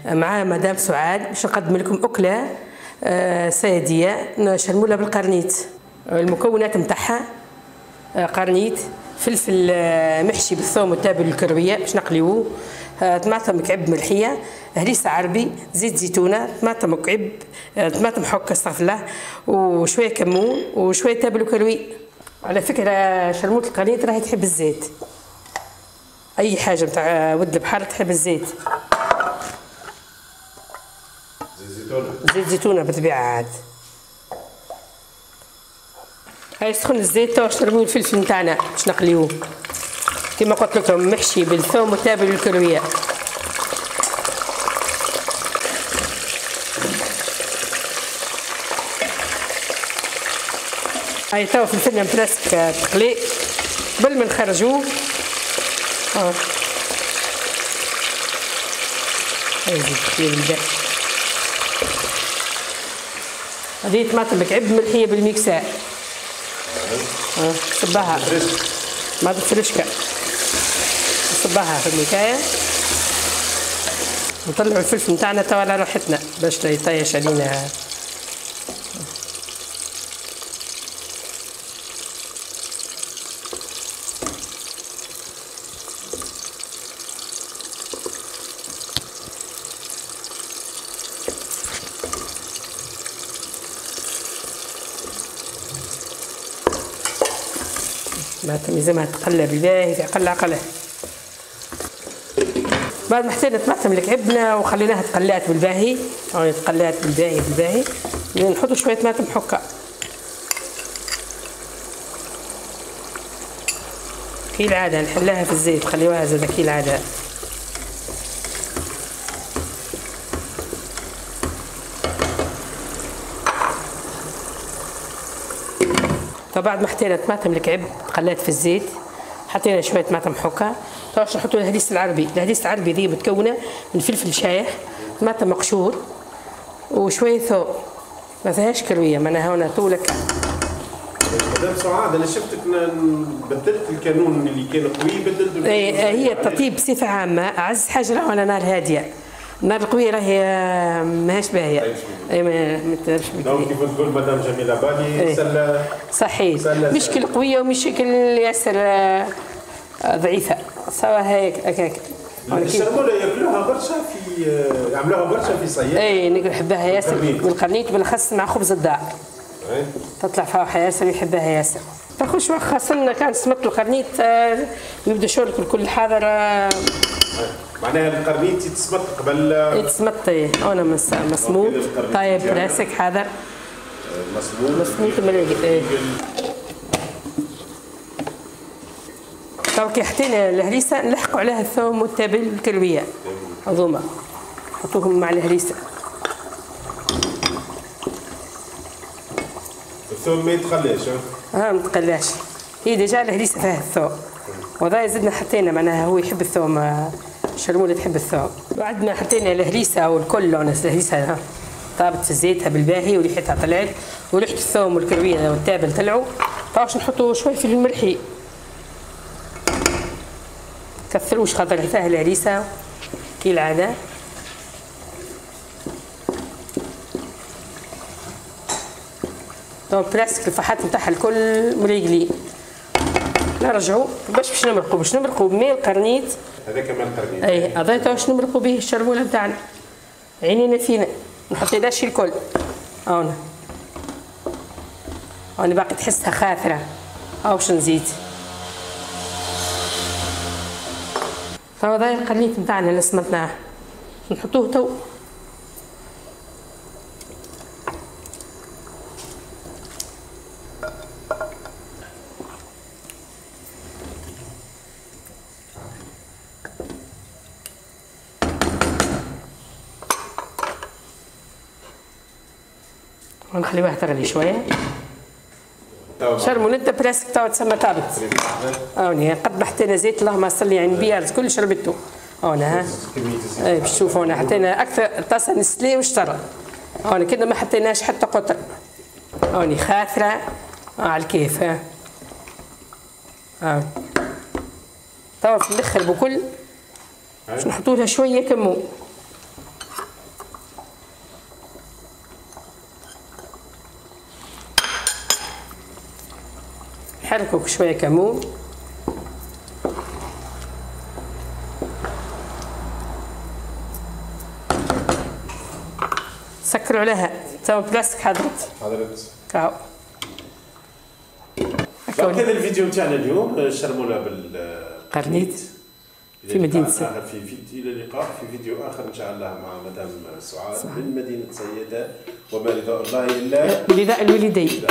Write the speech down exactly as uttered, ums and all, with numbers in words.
مع مدام سعاد باش نقدم لكم اكله صياديه شرموله بالقرنيط. المكونات نتاعها قرنيط، فلفل محشي بالثوم والتابل الكروية باش نقليوه، طماطم كعب ملحيه، هريسه عربي، زيت زيتونه، طماطم كعب، طماطم حك استغفر الله، وشوية كمون وشوية تابل وكروي. على فكرة شرموله القرنيط راهي تحب الزيت، اي حاجة نتاع ود البحر تحب الزيت. زيت زيتونه، زيت زيتونه بالطبيعة. عاد هاي سخن الزيت تو نرميو الفلفل نتاعنا باش نقليوه كما قلت لكم محشي بالثوم والتابل والكرويه. هاي تو فلفلنا presque تقلي قبل ما نخرجوه. اه هاي زيت هذه طماطم كعب ملحيه بال mixeur. اه صباها طماطم فريشكا، صباها في المكاية. نطلعوا الفلفل نتاعنا توا على راحتنا باش لا يطيش علينا. طماطم لازمها تقلب بالباهي في عقل عقله. بعد ما حطينا طماطم اللي كعبنا وخليناها تقلات بالباهي، يعني تقلات بالباهي بالباهي، نحطوا شوية طماطم حكه كي العادة، نحلها في الزيت، خليوها زاده كي العادة. فبعد ما حطينا طماطم الكعب تقلات في الزيت، حطينا شوية طماطم حكه. تو باش نحطوا الهريس العربي. الهريس العربي ذي متكونه من فلفل شايح، طماطم مقشور، وشوية ثوم، ما فيهاش كروية معناها هنا طولك. مدام سعاد انا شفتك بدلت الكانون اللي كان قوي بدلته. اي هي التطيب بصفة عامة اعز حاجة راهو على نار هادية، النار القوية راهي ماهيش باهيه. اي ما تعرفش donc كيف تقول مدام جميلة بالي سله صحيح، مش كل قوية ومش كل ياسر ضعيفة، سوا هيك هكاك. الشرموله ياكلوها برشا في يعملوها برشا في صياد. اي نحبها ياسر بالقرنيط بالاخص مع خبز الدار. تطلع فاوحه ياسر يحبها ياسر. تاخذ شوية خاصة كان سمط القرنيط يبدا شغلك الكل حاضر. معناها القرنيط يتسمط قبل يتسمط. ايه انا مسموط طيب راسك حاضر مسموط مسموط ملاقي. ايه تو كي حطينا الهريسه نلحقوا عليها الثوم والتابل والكرويه هذوما نحطوهم مع الهريسه. الثوم ما يتقلاش؟ اه ما يتقلاش، هي déjà الهريسه فيها الثوم، وهذا زدنا حطينا معناها هو يحب الثوم، الشرموله تحب الثوم. بعد ما حطينا الهريسه والكل الهريسه طابت في زيتها بالباهي وريحتها طلعت وريحه الثوم والكرويه والتابل طلعوا، باش نحطوا شوية فلفل ملحي، كثروش خاطر فيها الهريسه كي العادة. donc presque الفحات نتاعها الكل مريقلي. نرجعوا باش باش نمرقوا باش نمرقوا بماء القرنيط. هذاك ماء القرنيط. اي هذا تو باش نمرقوا به الشرموله نتاعنا. عينينا فينا نحط داشي الكل. هاونا هاونا باقي تحسها خاثره. هاو باش نزيد. تو هذا القرنيط نتاعنا اللي سمطناه نحطوه تو. ونخليوها تغلي شوية. شرمولة presque توا تسمى طابت. هاوني قد ما حطينا زيت اللهم صل على النبي الكل شربته. هاونا ها. اي باش تشوفوا هنا حطينا اكثر طاسه نسلي وشطر. هاوني كنا ما حطيناش حتى قطر. هاوني خاثره على الكيف ها. ها. توا في الاخر بكل باش نحطوا لها شوية كمون. نحركو شوية كمون. سكروا عليها تو بلاستيك حضرت حضرت كاو. هذا الفيديو تاعنا اليوم شرموله بالقرنيت في مدينة صيادة. في فيديو الى اللقاء في فيديو اخر ان شاء الله مع مدام سعاد من مدينة صيادة، وما رضاء الله الا برضاء الوالدين.